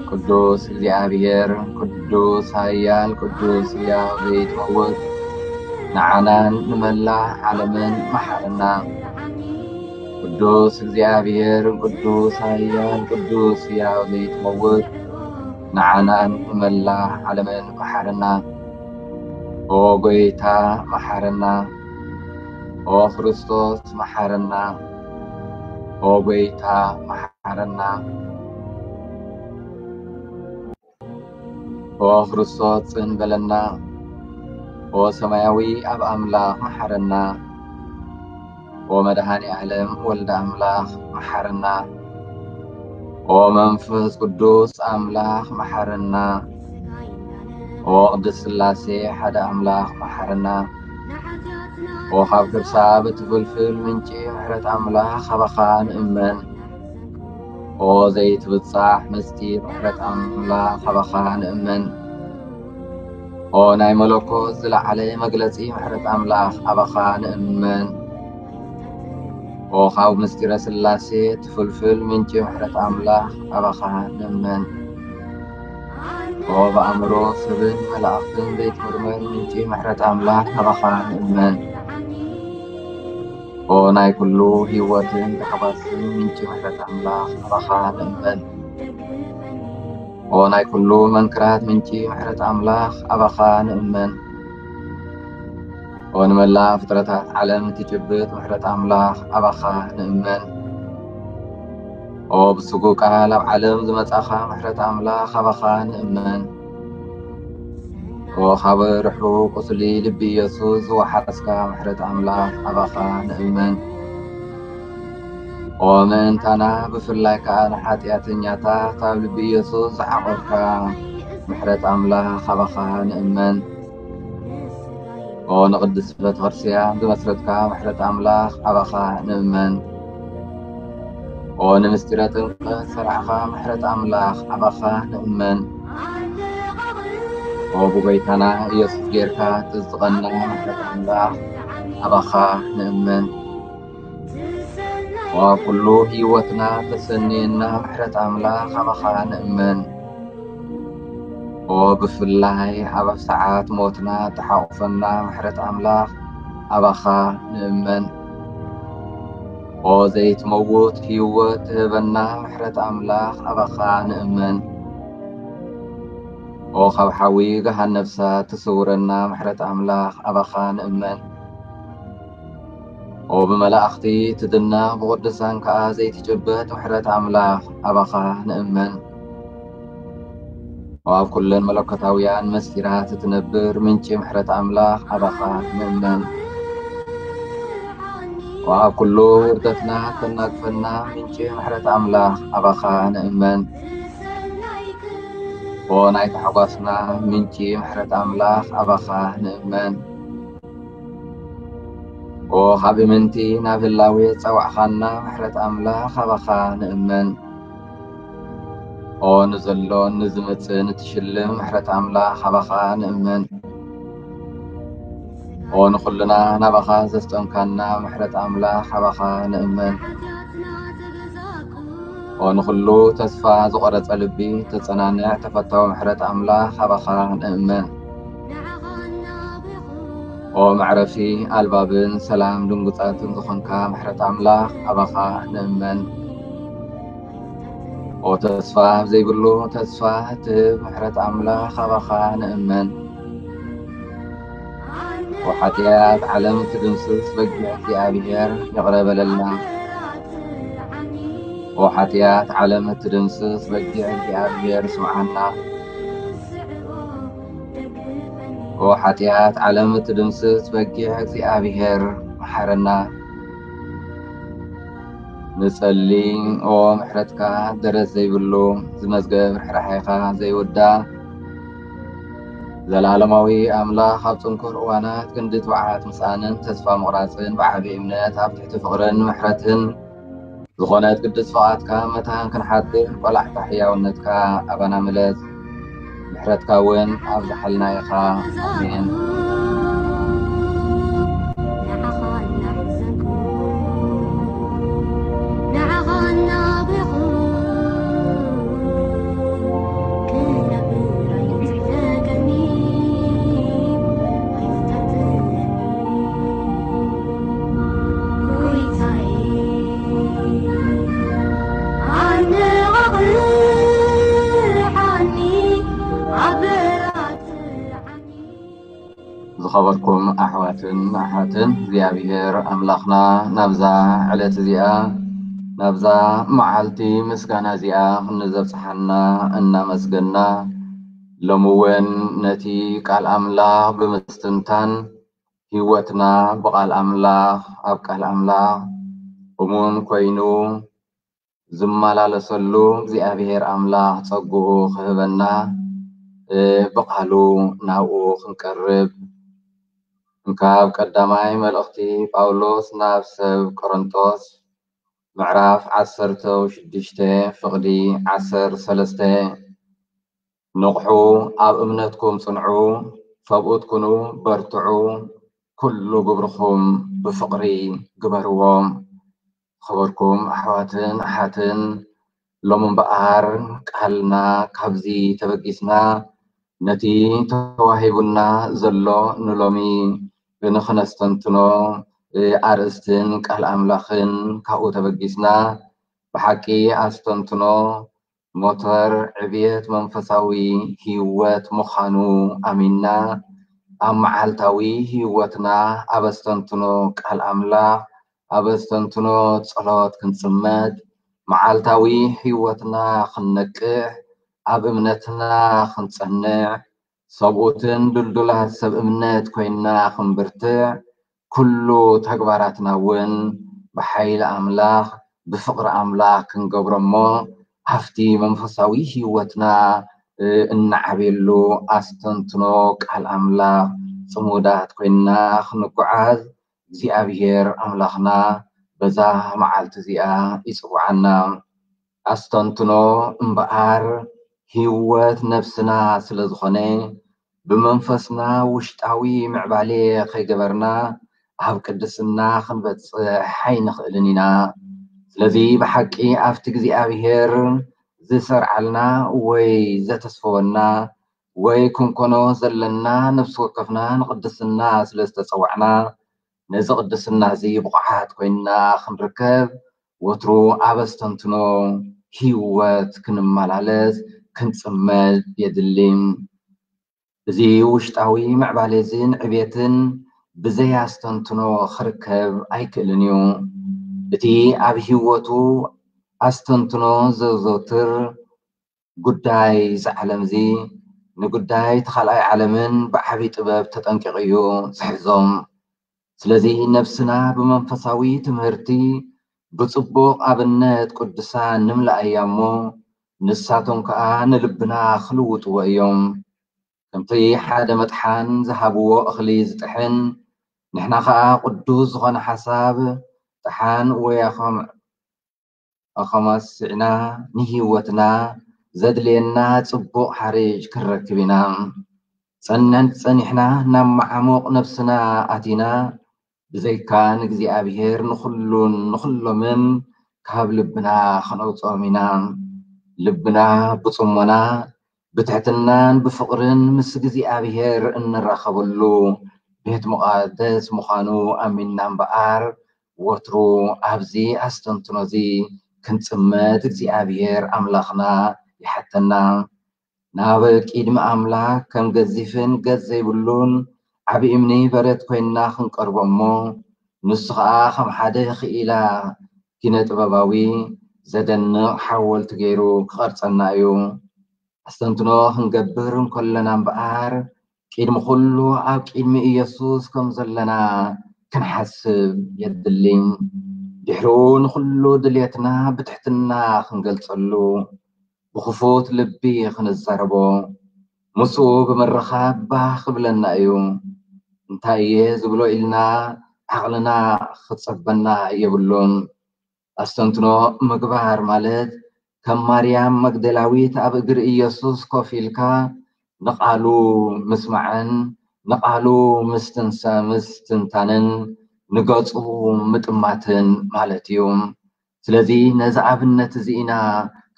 ቅዱስ እግዚኣብሔር፣ ቅዱስ ኃያል፣ ቅዱስ ሕያው ዘይትመውት፣ ንዓናን ንመላእ ዓለምን መሓረና። ቅዱስ እግዚኣብሔር፣ ቅዱስ ኃያል፣ ቅዱስ ሕያው ዘይትመውት፣ ንዓናን ንመላእ ዓለምን መሓረና። ኦ ጐይታ መሓረና። ኦ ክርስቶስ መሓረና። ኦ ጐይታ መሓረና። ኦ ክርስቶስ ጽን በለና። ኦ ሰማያዊ ኣብ ኣምላኽ መሓረና። ኦ መድኃኔ ዓለም ወልደ ኣምላኽ መሓረና። ኦ መንፈስ ቅዱስ ኣምላኽ መሓረና። ኦ ቅድስት ሥላሴ ሓደ ኣምላኽ መሓረና። ኦ ካብ ከርሳ ብትፍልፍል ምንጪ ምሕረት ኣምላኽ ኣባኻ ንእመን። ኦ ዘይትብጻሕ ምስጢር ምሕረት ኣምላኽ ኣባኻ ንእመን። ኦ ናይ መለኮት ዝለዓለ መግለጺ ምሕረት ኣምላኽ ኣባኻ ንእመን። ኦ ካብ ምስጢረ ሥላሴ ትፍልፍል ምንጪ ምሕረት ኣምላኽ ኣባኻ ንእመን። ኦ ብኣእምሮ ሰብን መላእኽትን ዘይትምርመር ምንጪ ምሕረት ኣምላኽ ኣባኻ ንእመን። ኦ ናይ ኩሉ ህይወትን ታሕጓስን ምንጪ ምሕረት ኣምላኽ ኣባኻ ንእመን። ኦ ናይ ኩሉ መንክራት ምንጪ ምሕረት ኣምላኽ ኣባኻ ንእመን። ኦ ንመላእ ፍጥረታት ዓለም ትጭብጥ ምሕረት ኣምላኽ ኣባኻ ንእመን። ኦ ብስጉ ቃል ኣብ ዓለም ዝመጻኻ ምሕረት ኣምላኽ ኣባኻ ንእመን። ኦ ካብ ርሑቕ ቁስሊ ልቢ ኢየሱስ ዝወሓስካ ምሕረት ኣምላኽ ኣባኻ ንእመን። ኦ ምእንታና ብፍላይ ከኣ ንሓጢኣተኛታት ኣብ ልቢ ኢየሱስ ዝዓቖርካ ምሕረት ኣምላኽ ኣባኻ ንእመን። ኦ ንቅድስት ቤተክርስትያን ዝመስረትካ ምሕረት ኣምላኽ ኣባኻ ንእመን። ኦ ንምስጢረ ጥምቀት ሰርዓኻ ምሕረት ኣምላኽ ኣባኻ ንእመን። ኦ ብጎይታና ኢየሱስ ጌርካ ትዝትቐና ምሕረት ኣምላኽ ኣባኻ ንእመን። ኦ ኣብ ኩሉ ህይወትና ተሰንየና ምሕረት ኣምላኽ ኣባኻ ንእመን። ኦ ብፍላይ ኣብ ሰዓት ሞትና ተሓቑፈና ምሕረት ኣምላኽ ኣባኻ ንእመን። ኦ ዘይትመውት ህይወት ትህበና ምሕረት ኣምላኽ ኣባኻ ንእመን። ኦ ካብ ሓዊ ገሃነብ እሳት ትስውረና ምሕረት ኣምላኽ ኣባኻ ንእመን። ኦ ብመላእኽቲ ትድነቕ ብቕዱሳን ከኣ ዘይትጭበጥ ምሕረት ኣምላኽ ኣባኻ ንእመን። ኦ ኣብ ኩለን መለኮታውያን መስጢራት እትነብር ምንጪ ምሕረት ኣምላኽ ኣባኻ ንእመን። ኦ ኣብ ኩሉ ውርደትና ተናግፈና ምንጪ ምሕረት ኣምላኽ ኣባኻ ንእመን። ኦ ናይ ታሕጓስና ምንጪ ምሕረት ኣምላኽ ኣባኻ ንእመን። ኦ ካብ እምንቲ ናብ ህላዌ ጸዋዕኻና ምሕረት ኣምላኽ ኣባኻ ንእመን። ኦ ንዘሎን ንዝመጽእን እትሽልም ምሕረት ኣምላኽ ኣባኻ ንእመን። ኦ ንኹልና ናባኻ ዘስጠምካና ምሕረት ኣምላኽ ኣባኻ ንእመን። ኦ ንኹሉ ተስፋ ዝቖረጸ ልቢ ተጸናንዕ ተፈታዊ ምሕረት ኣምላኽ ኣባኻ ንእመን። ኦ መዕረፊ ኣልባብን ሰላም ድንጉጻትን ዝኾንካ ምሕረት ኣምላኽ ኣባኻ ንእመን። ኦ ተስፋ ዘይብሉ ተስፋ እትህብ ምሕረት ኣምላኽ ኣባኻ ንእመን። ኦ ሓጢኣት ዓለም እትድምስስ በጊዕ እግዚኣብሔር ይቕረ በለልና። ኦ ሓጢኣት ዓለም እትድምስስ በጊዕ እግዚኣብሔር ስምዓና። ኦ ሓጢኣት ዓለም እትድምስስ በጊዕ እግዚኣብሔር መሓረና። ንጸሊ ኦ ምሕረትካ ደረት ዘይብሉ ዝመዝገብ ርሕራሕኻ ዘይውዳእ ዘላለማዊ ኣምላኽ ኣብ ጽንኩር እዋናት ክንዲ ትብዓት ምስኣንን ተስፋ ምቑራጽን ብዓቢ እምነት ኣብ ትሕቲ ፍቕርን ምሕረትን ዝኾነት ቅድስት ፍቓድካ መታን ክንሓድር ቆላሕታ ሕያውነትካ ኣባና ምለስ። ምሕረትካ እውን ኣብዝሓልና ኢኻ። ኣሜን። ዝኸበርኩም ኣሕዋትን ኣሓትን እግዚኣብሔር ኣምላኽና ናብዛ ዕለት እዚኣ ናብዛ መዓልቲ ምስጋና እዚኣ ክንዘብጽሓና እናመስገና ሎሚ እውን ነቲ ቃል ኣምላኽ ብምስትንታን ህይወትና ብቃል ኣምላኽ ኣብ ቃል ኣምላኽ እሙን ኮይኑ ዝመላለሰሉ እግዚኣብሔር ኣምላኽ ጸግኡ ክህበና ብቃሉ ናብኡ ክንቀርብ እንካብ ቀዳማይ መልእኽቲ ጳውሎስ ናብ ሰብ ቆሮንቶስ ምዕራፍ ዓሰርተ ሽዱሽተ ፍቕዲ ዓሰርተ ሰለስተ ንቕሑ ኣብ እምነትኩም ጽንዑ ሰብኡት ኩኑ በርትዑ ኩሉ ግብርኹም ብፍቕሪ ግበርዎ። ዝኸበርኩም ኣሕዋትን ኣሓትን ሎሚ እምበኣር ቃልና ካብዚ ተበጊስና ነቲ ተዋሂቡና ዘሎ ንሎሚ ንኽነስተንትኖ ኣርእስትን ቃል ኣምላኽን ካብኡ ተበጊስና ብሓቂ ኣስተንትኖ ሞተር ዕብየት መንፈሳዊ ህይወት ምዃኑ ኣሚንና ኣብ መዓልታዊ ህይወትና ኣብ ኣስተንትኖ ቃል ኣምላኽ ኣብ ኣስተንትኖ ጸሎት ክንጽመድ መዓልታዊ ህይወትና ክንነቅሕ ኣብ እምነትና ክንጸንዕ ሰብኡትን ድልዱላት ሰብ እምነት ኮይንና ክንብርትዕ ኩሉ ተግባራትና እውን ብሓይሊ ኣምላኽ ብፍቕሪ ኣምላኽ ክንገብሮ እሞ ኣብቲ መንፈሳዊ ህይወትና እናዓብየሉ ኣስተንትኖ ቃል ኣምላኽ ፅሙዳት ኮይንና ክንጓዓዝ እግዚኣብሔር ኣምላኽና በዛ መዓልቲ እዚኣ ይፅውዓና። ኣስተንትኖ እምበኣር ህይወት ነብስና ስለ ዝኾነ ብመንፈስና ውሽጣዊ ምዕባሌ ከይገበርና ኣብ ቅድስና ክንበጽሕ ኣይንኽእልን ኢና። ስለዚ ብሓቂ ኣብቲ እግዚኣብሔር ዝሰርዓልና ወይ ዘተስፈወና ወይ ክንኮኖ ዘለና ነፍሲ ወከፍና ንቅድስና ስለ ዝተጸዋዕና ነዚ ቅድስና እዚ ብቑዓት ኮይንና ክንርከብ ወትሩ ኣብ ኣስተንትኖ ህይወት ክንመላለስ ክንጽመድ የድሊ። እዚ ውሽጣዊ ምዕባለ እዚን ዕቤትን ብዘይ ኣስተንትኖ ክርከብ ኣይክእልን እዩ። እቲ ኣብ ህይወቱ ኣስተንትኖ ዘዘውትር ጉዳይ እዚ ዓለም እዚ ንጉዳይ እቲ ካልኣይ ዓለምን ብዓቢ ጥበብ ተጠንቂቑ እዩ ዝሕዞም። ስለዚ ነብስና ብመንፈሳዊ ትምህርቲ ብጽቡቕ ኣብነት ቅዱሳን ንምልኣያ እሞ ንሳቶም ከኣ ንልብና ክልውጥዎ እዮም። ከምቲ ሓደ መጥሓን ዝሃብዎ እኽሊ ዝጥሕን ንሕና ከኣ ቅዱስ ዝኾነ ሓሳብ ጥሓን ወይ ኣኸም ኣኸማስዕና ንህይወትና ዘድልየና ጽቡቕ ሓርጭ ክንረክብ ኢና። ጸንዕን ጸኒሕና ናብ መዓሙቕ ነብስና ኣቲና ብዘይካ ንእግዚኣብሔር ንኹሉን ንኹሎምን ካብ ልብና ከነውፅኦም ኢና። ልብና ብጽሞና ብትሕትናን ብፍቕርን ምስ እግዚኣብሔር እንራኸበሉ ቤት መቓደስ ምዃኑ ኣሚንና እምበኣር ወትሩ ኣብዚ ኣስተንትኖ እዚ ክንጽመድ እግዚኣብሔር ኣምላኽና ይሓተና። ናብ ቅድሚ ኣምላኽ ከም ገዚፍን ገጽ ዘይብሉን ዓቢ እምኒ በረት ኮይንና ክንቀርቦ እሞ ንሱ ኸኣ ከም ሓደ ክኢላ ኪነ ጥበባዊ ዘደንቕ ሓወልቲ ገይሩ ክቐርጸና እዩ። ኣስተንትኖ ክንገብር እንከለና እምበኣር ቅድሚ ኩሉ ኣብ ቅድሚ ኢየሱስ ከም ዘለና ክንሓስብ የድሊ። ድሕሪኡ ንኹሉ ድልየትና ብትሕትና ክንገልጸሉ ብኽፉት ልቢ ክንዛረቦ ምስኡ ብምርኻብ ባህ ክብለና እዩ። እንታይ እየ ዝብሎ ኢልና ዓቕልና ክጸበና የብሉን። ኣስተንትኖ ምግባር ማለት ከም ማርያም መግደላዊት ኣብ እግሪ ኢየሱስ ኮፍ ኢልካ ንቓሉ ምስማዕን ንቓሉ ምስትንሳ ምስትንታንን ንገጹ ምጥማትን ማለት እዩ። ስለዚ ነዚ ኣብነት እዚ ኢና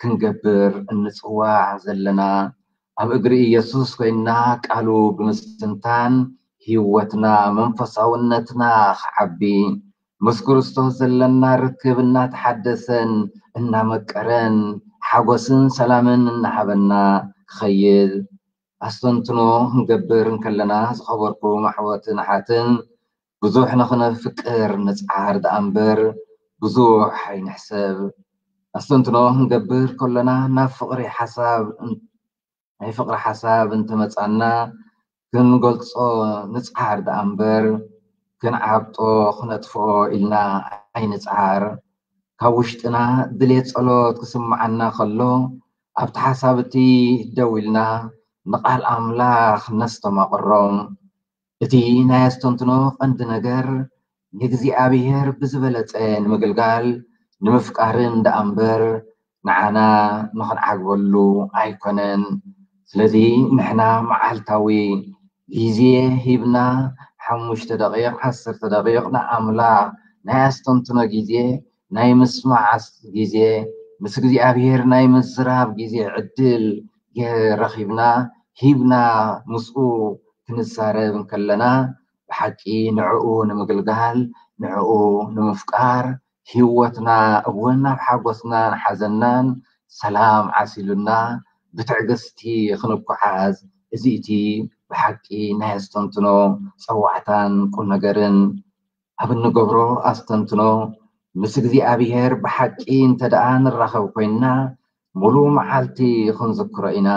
ክንገብር እንጽዋዕ ዘለና። ኣብ እግሪ ኢየሱስ ኮይንና ቃሉ ብምስትንታን ህይወትና መንፈሳውነትና ክዓቢ ምስ ክርስቶስ ዘለና ርክብ እናተሓደሰን እናመቀረን ሓጎስን ሰላምን እናሃበና ክኸይድ ኣስተንትኖ ክንገብር እንከለና ዝኸበርኩም ኣሕዋትን ኣሓትን ብዙሕ ንኽነፍቅር ንጽዓር ደኣ እምበር ብዙሕ ኣይንሕሰብ። ኣስተንትኖ ክንገብር ከለና ናብ ፍቕሪ ሓሳብ ናይ ፍቕሪ ሓሳብ እንተመጻና ክንገልጾ ንጽዓር ደኣ እምበር ክንዓብጦ ክነጥፍኦ ኢልና ኣይንጽዓር። ካብ ውሽጥና ድሌት ጸሎት ክስምዓና ከሎ ኣብቲ ሓሳብ እቲ ደው ኢልና ንቓል ኣምላኽ ነስተማቕሮ። እቲ ናይ ኣስተንትኖ ቀንዲ ነገር ንእግዚኣብሔር ብዝበለጸ ንምግልጋል ንምፍቃርን ደኣ እምበር ንዓና ንኽንዓግበሉ ኣይኮነን። ስለዚ ንሕና መዓልታዊ ግዜ ሂብና ሓሙሽተ ደቂቕ ዓሰርተ ደቂቕ ንኣምላኽ ናይ ኣስተንትኖ ግዜ ናይ ምስማዕ ግዜ ምስ እግዚኣብሔር ናይ ምዝራብ ግዜ ዕድል ረኺብና ሂብና ምስኡ ክንዛረብ እንከለና ብሓቂ ንዕኡ ንምግልጋል ንዕኡ ንምፍቃር ህይወትና እውን ናብ ሓጎስናን ሓዘናን ሰላም ዓሲሉና ብትዕግስቲ ክንጓዓዝ እዚ እቲ ብሓቂ ናይ ኣስተንትኖ ፀዋዕታን ቁም ነገርን ኣብ እንገብሮ ኣስተንትኖ ምስ እግዚኣብሔር ብሓቂ እንተ ደኣ ንራኸብ ኮይንና ሙሉ መዓልቲ ክንዝክሮ ኢና።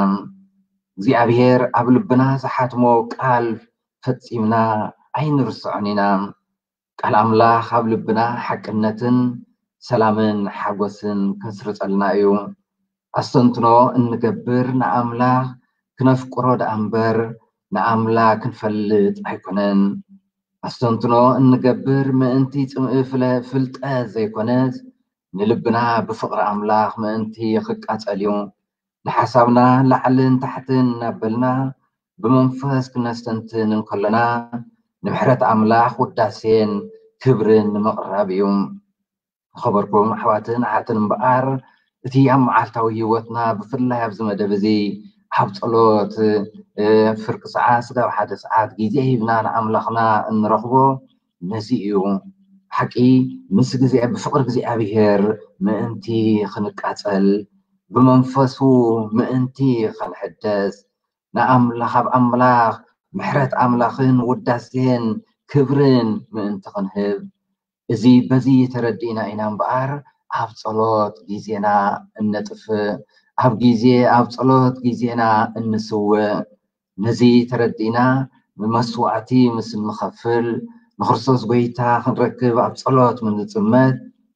እግዚኣብሔር ኣብ ልብና ዝሓትሞ ቃል ፈጺምና ኣይንርስዖን ኢና። ቃል ኣምላኽ ኣብ ልብና ሓቅነትን ሰላምን ሓጎስን ከስርጸልና እዩ። ኣስተንትኖ እንገብር ንኣምላኽ ክነፍቅሮ ደኣ እምበር ንኣምላኽ ክንፈልጥ ኣይኮነን። ኣስተንትኖ እንገብር ምእንቲ ጽምኢ ፍለ- ፍልጠት ዘይኮነስ ንልብና ብፍቕሪ ኣምላኽ ምእንቲ ክቃጸል እዩ። ንሓሳብና ላዕልን ታሕትን እናበልና ብመንፈስ ክነስተንትን እንከለና ንምሕረት ኣምላኽ ውዳሴን ክብርን ንምቕራብ እዩ። ዝኸበርኩም ኣሕዋትን ኣሓትን እምበኣር እቲ ኣብ መዓልታዊ ህይወትና ብፍላይ ኣብዚ መደብ እዚ ኣብ ጸሎት ፍርቂ ሰዓት ስጋብ ሓደ ሰዓት ግዜ ሂብና ንኣምላኽና እንረኽቦ ነዚ እዩ። ሓቂ ምስ ግዜ ብፍቕሪ እግዚኣብሔር ምእንቲ ክንቃጸል ብመንፈሱ ምእንቲ ክንሕደስ ንኣምላኽ ኣብ ኣምላኽ ምሕረት ኣምላኽን ውዳሴን ክብርን ምእንቲ ክንህብ እዚ በዚ ተረዲእና ኢና እምበኣር ኣብ ጸሎት ግዜና እነጥፍእ ኣብ ግዜ ኣብ ጸሎት ግዜና እንስውእ ነዚ ተረዲእና ንመስዋዕቲ ምስ እንኸፍል ንክርስቶስ ጎይታ ክንረክብ ኣብ ጸሎት ምስ ንጽመድ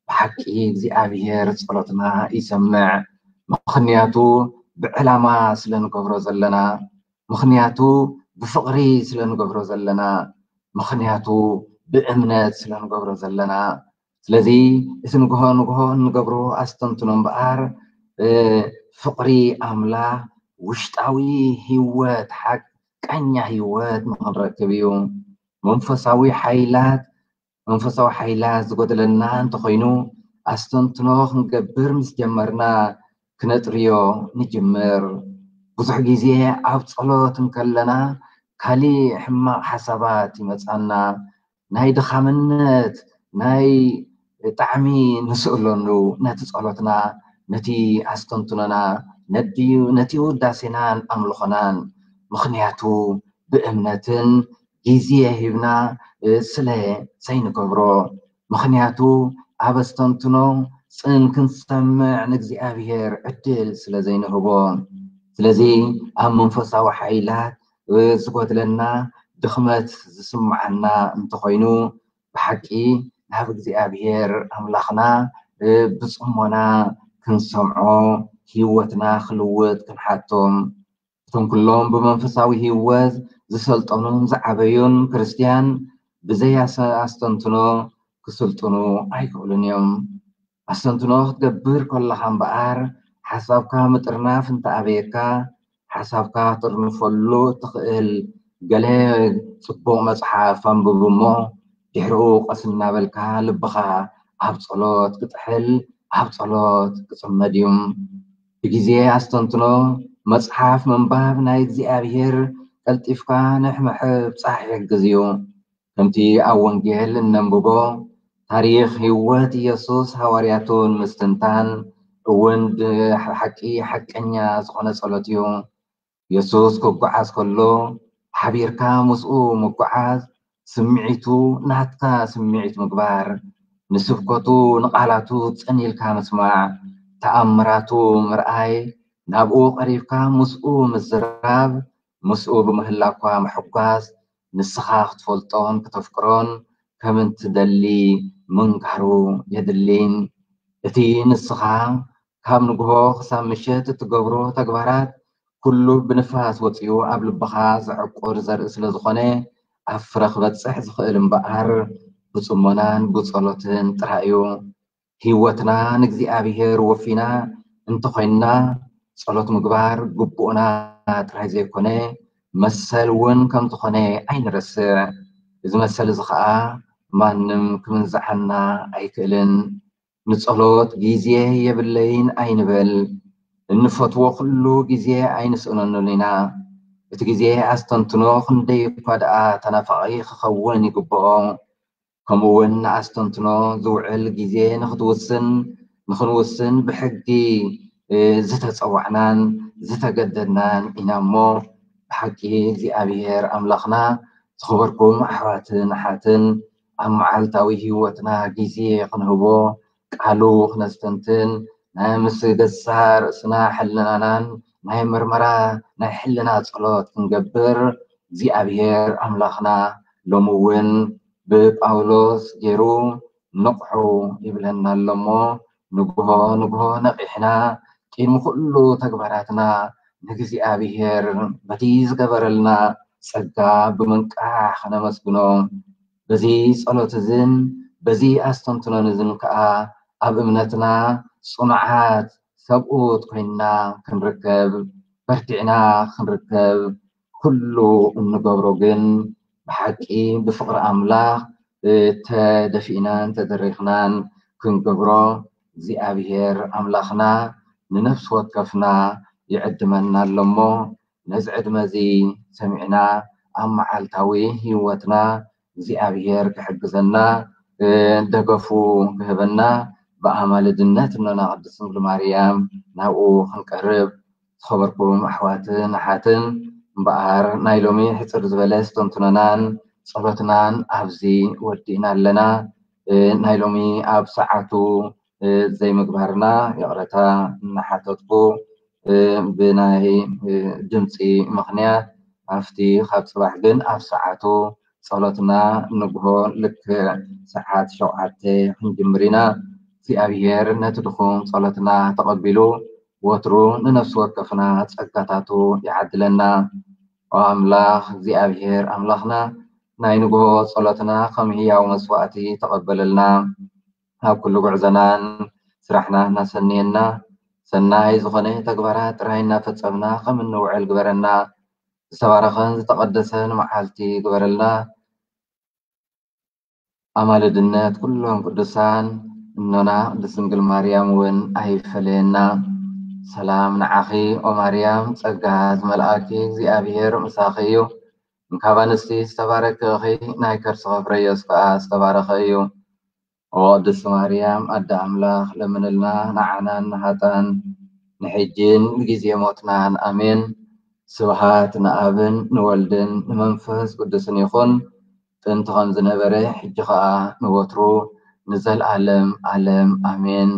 ብሓቂ እግዚኣብሔር ጸሎትና ይሰምዕ። ምኽንያቱ ብዕላማ ስለ ንገብሮ ዘለና ምኽንያቱ ብፍቕሪ ስለ ንገብሮ ዘለና ምኽንያቱ ብእምነት ስለ ንገብሮ ዘለና ስለዚ እቲ ንግሆ ንግሆ እንገብሮ ኣስተንትኖ እምበኣር ፍቕሪ ኣምላኽ ውሽጣዊ ህይወት ሓቀኛ ህይወት ንኽንረክብ እዩ መንፈሳዊ ሓይላት መንፈሳዊ ሓይላት ዝጎደለና እንተኾይኑ ኣስተንትኖ ክንገብር ምስ ጀመርና ክነጥርዮ ንጅምር። ብዙሕ ግዜ ኣብ ጸሎት እንከለና ካሊእ ሕማቕ ሓሳባት ይመጻና። ናይ ድኻምነት ናይ ጣዕሚ ንስእለሉ ነቲ ጸሎትና ነቲ ኣስተንትኖና ነቲ ውዳሴናን ኣምልኾናን ምኽንያቱ ብእምነትን ግዜ ሂብና ስለ ዘይንገብሮ ምኽንያቱ ኣብ ኣስተንትኖ ጽን ክንሰምዕ ንእግዚኣብሔር ዕድል ስለ ዘይንህቦ ስለዚ ኣብ መንፈሳዊ ሓይላት ዝጎድለና ድኽመት ዝስምዓና እንተኾይኑ ብሓቂ ናብ እግዚኣብሔር ኣምላኽና ብጽሞና ክንሰምዖ ህይወትና ክልውጥ ክንሓቶም እቶም ኩሎም ብመንፈሳዊ ህይወት ዝሰልጠኑን ዝዓበዩን ክርስትያን ብዘይ ኣስተንትኖ ክስልጥኑ ኣይክእሉን እዮም። ኣስተንትኖ ክትገብር ከለኻ እምበኣር ሓሳብካ ምጥርናፍ እንተኣበየካ ሓሳብካ ትርንፈሉ እትኽእል ገለ ጽቡቕ መጽሓፍ ኣንብብ እሞ ድሕሪኡ ቀስ እናበልካ ልብኻ ኣብ ጸሎት ክጥሕል ኣብ ጸሎት ክጽመድ እዩ። ብግዜ ኣስተንትኖ መጽሓፍ ምንባብ ናይ እግዚኣብሔር ቀልጢፍካ ንሕምሕብጻሕ ይሕግዝ እዩ። ከምቲ ኣብ ወንጌል እነንብቦ ታሪኽ ህይወት ኢየሱስ ሃዋርያቱ ንምስትንታን እውን ብሓቂ ሓቀኛ ዝኾነ ጸሎት እዩ። የሱስ ክጓዓዝ ከሎ ሓቢርካ ምስኡ ምጉዓዝ፣ ስምዒቱ ናትካ ስምዒት ምግባር፣ ንስብከቱ ንቓላቱ ጽን ኢልካ ምስማዕ፣ ተኣምራቱ ምርኣይ፣ ናብኡ ቀሪብካ ምስኡ ምዝራብ፣ ምስኡ ብምህላኳ ምሕጓስ፣ ንስኻ ክትፈልጦን ክተፍቅሮን ከም እንትደሊ ምንጋሩ የድሊ። እቲ ንስኻ ካብ ንግሆ ክሳብ ምሸት እትገብሮ ተግባራት ኩሉ ብንፋስ ወጺኡ ኣብ ልብኻ ዝዕቁር ዘርኢ ስለ ዝኾነ ኣብ ፍረ ክበጽሕ ዝኽእል እምበኣር ብጽሞናን ብጸሎትን ጥራይ እዩ። ህይወትና ንእግዚኣብሔር ወፊና እንተኾይንና ጸሎት ምግባር ግቡእና ጥራይ ዘይኮነ መሰል እውን ከም ዝኾነ ኣይንረስዕ። እዚ መሰል እዚ ኸኣ ማንም ክምንዝዓና ኣይክእልን። ንጸሎት ግዜ የብለይን ኣይንበል። እንፈትዎ ኩሉ ግዜ ኣይንስእነሉን ኢና። እቲ ግዜ ኣስተንትኖ ክንደይ እኳ ደኣ ተናፋቒ ክኸውን ይግብኦ። ከምኡ እውን ንኣስተንትኖ ዝውዕል ግዜ ንኽትውስን፣ ንኽንውስን ብሕጊ፣ እ፣ ዝተጸዋዕናን ዝተገደድናን ኢና እሞ፣ ብሓቂ እግዚኣብሔር ኣምላኽና ዝኸበርኩም ኣሕዋትን ኣሓትን፣ ኣብ መዓልታዊ ህይወትና ግዜ ክንህቦ፣ ቃሉ ክነስተንትን፣ ናይ ምስ ገዛእ ርእስና ሕልናናን ናይ ምርመራ ናይ ሕልና ጸሎት ክንገብር እግዚኣብሔር ኣምላኽና ሎሚ እውን ብጳውሎስ ገይሩ ንቕሑ ይብለና ኣሎ እሞ፣ ንግሆ ንግሆ ነቒሕና ቅድሚ ኩሉ ተግባራትና ንእግዚኣብሔር በቲ ዝገበረልና ጸጋ ብምንቃሕ ክነመስግኖ፣ በዚ ጸሎት እዝን በዚ ኣስተንትኖን እዝን ከኣ ኣብ እምነትና ጽኑዓት ሰብኡት ኮይንና ክንርከብ፣ በርቲዕና ክንርከብ፣ ኩሉ እንገብሮ ግን ብሓቂ ብፍቕሪ ኣምላኽ፣ እ፣ ተደፊእናን ተደሪኽናን ክንገብሮ እግዚኣብሔር ኣምላኽና ንነፍሲ ወከፍና ይዕድመና ኣሎ እሞ፣ ነዚ ዕድመ እዚ ሰሚዕና ኣብ መዓልታዊ ህይወትና እግዚኣብሔር ክሕግዘና፣ እ፣ ደገፉ ክህበና ብኣማልድነት እኖና ቅድስት ድንግል ማርያም ናብኡ ክንቀርብ ዝኸበርኩም ኣሕዋትን ኣሓትን፣ እምበኣር ናይ ሎሚ ሕጽር ዝበለ ስተንትኖናን ጸሎትናን ኣብዚ ወዲእና ኣለና። እ፣ ናይ ሎሚ ኣብ ሰዓቱ፣ እ፣ ዘይምግባርና ይቕረታ እናሓተትኩ፣ እ፣ ብናይ፣ እ፣ ድምፂ ምኽንያት ኣብቲ ካብ ጽባሕ ግን ኣብ ሰዓቱ ጸሎትና ንግሆ ልክዕ ሰዓት ሸውዓተ ክንጅምር ኢና። እግዚኣብሔር ነቲ ድኹም ጸሎትና ተቐቢሉ ወትሩ ንነፍሲ ወከፍና ጸጋታቱ ይዓድለና። ኦ ኣምላኽ እግዚኣብሔር ኣምላኽና፣ ናይ ንግሆ ጸሎትና ከም ህያው መስዋእቲ ተቐበለልና። ኣብ ኩሉ ጉዕዞናን ስራሕና እናሰነየና፣ ሰናይ ዝኾነ ተግባራት ጥራይ እናፈጸምና ከም እንውዕል ግበረና። ዝተባረኸን ዝተቐደሰን መዓልቲ ግበረልና። ኣማልድነት ኩሎም ቅዱሳን እኖና ቅድስት ድንግል ማርያም እውን ኣይፈለየና። ሰላም ንዓኺ ኦ ማርያም፣ ጸጋ ዝመልኣኪ እግዚኣብሔር ምሳኺ እዩ። እንካብ ኣንስቲ ዝተባረኪ ኢኺ፣ ናይ ከርስኺ ፍረ ኢየሱስ ከኣ ዝተባረኸ እዩ። ኦ ቅድስት ማርያም ኣደ ኣምላኽ፣ ለምንልና ንዓናን ንሃጣን ንሕጅን ንግዜ ሞትናን። ኣሜን። ስብሃት ንኣብን ንወልድን ንመንፈስ ቅዱስን ይኹን። ጥንቲ ከም ዝነበረ፣ ሕጂ ኸኣ ንወትሩ ንዘልኣለም ኣለም ኣሜን።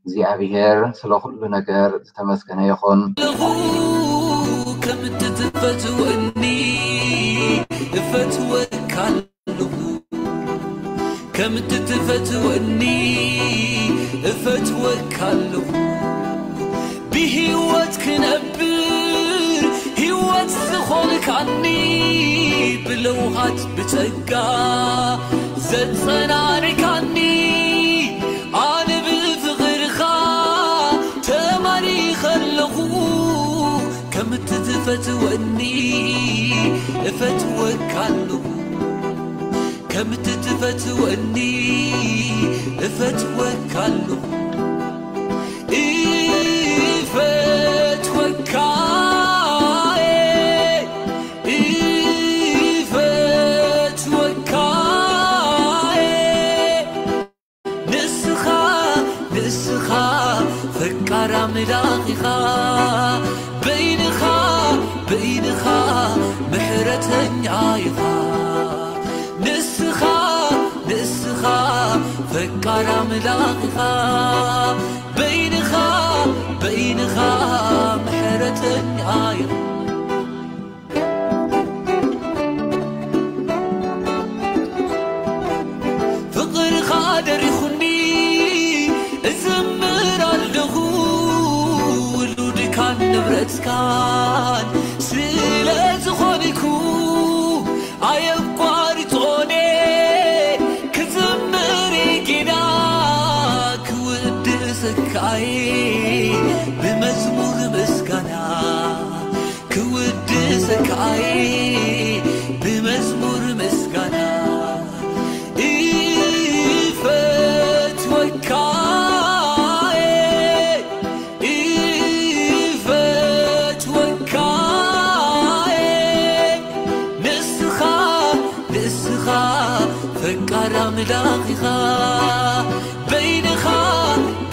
እግዚኣብሔር ስለ ኩሉ ነገር ዝተመስገነ ይኹን። ኣለኹ ከም እትትፈትወኒ እፈትወካ ኣለኹ። ከም እትትፈትወኒ እፈትወካ ኣለኹ። ብህይወት ክነብር ህይወት ዝኾንካኒ፣ ብለውሃት ብጸጋ ዘጸናንዕካኒ፣ ኣነ ብፍቕርኻ ተማሪኸ ኣለኹ። ከም እትትፈትወኒ እፈትወካ ኣለኹ። ከም እትትፈትወኒ እፈትወካ ኣለኹ። እፈትወካ፣ እፈትወካ፣ ንስኻ፣ ንስኻ ፈቃር ኣምላኽ ኢኻ። በይንኻ፣ በይ ፈቃር ኣምላኽ ኢኻ፣ በይንኻ፣ በይንኻ ምሕረተኛ ኢኻ። ፍቕርኻ ደሪኹኒ እዝምር ኣለኹ፣ ውሉድካን ንብረትካን ስለ ዝኾንኩ ኣየቋርጾኔ ክዝምር ጌና ክውድሰካይ ብመዝሙር ምስጋና ክውድሰካይ ብመዝሙር ምስጋና እፈትወካይ እፈትወካይ ንስኻ ንስኻ ፈቃር ኣምላኽ ኢኻ በይንኻ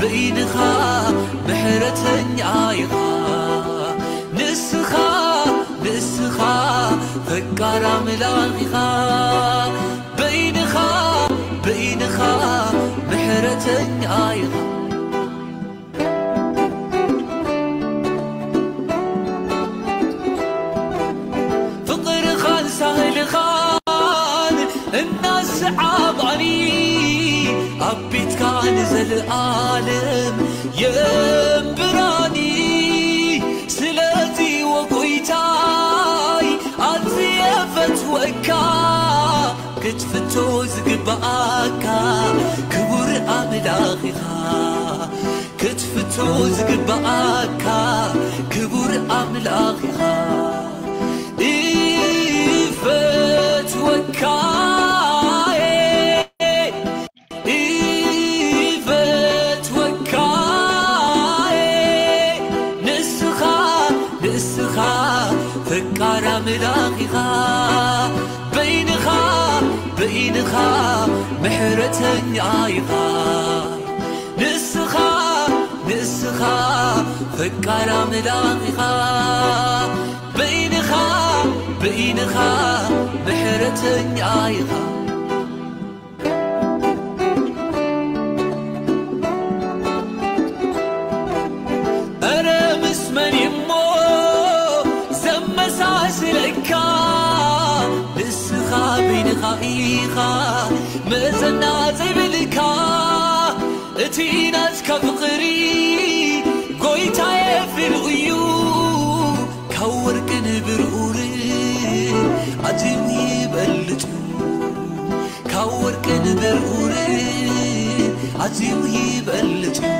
በይንኻ ምሕረተኛ ኢኻ ንስኻ ንስኻ ፈቃር ኣምላኽ ኢኻ በይንኻ በይንኻ ምሕረተኛ ኢኻ ፍቕርኻን ሳህልኻን እናሰዓባኒ ኣብ ቤትካ ንዘለኣለም የንብራኒ ስለዚ ወጎይታይ ኣዝየ ፈትወካ ክትፍቶ ዝግባኣካ ክቡር ኣምላኽ ኢኻ ክትፍቶ ዝግባኣካ ክቡር ኣምላኽ ኢኻ እፈትወካ እፈትወካ ንስኻ ንስኻ ፈቃር ኣምላኽ ኢኻ በይንኻ በይንኻ ምሕረተኛ ኢኻ ንስኻ ንስኻ ፈቃር ኣምላኽ ኢኻ በይንኻ በይንኻ ምሕረተኛ ኢኻ እረ ምስ መን እሞ ዘመሳስለካ ንስኻ በይንኻ ኢኻ መዘና ዘይብልካ እቲ ናትካ ፍቕሪ ጎይታየ ፍሉይ እዩ ካብ ወርቅን ብርኡር ኣዝዩ ይበልጥ እዩ ካብ ወርቅን ብርኡር ኣዝዩ ይበልጥ እዩ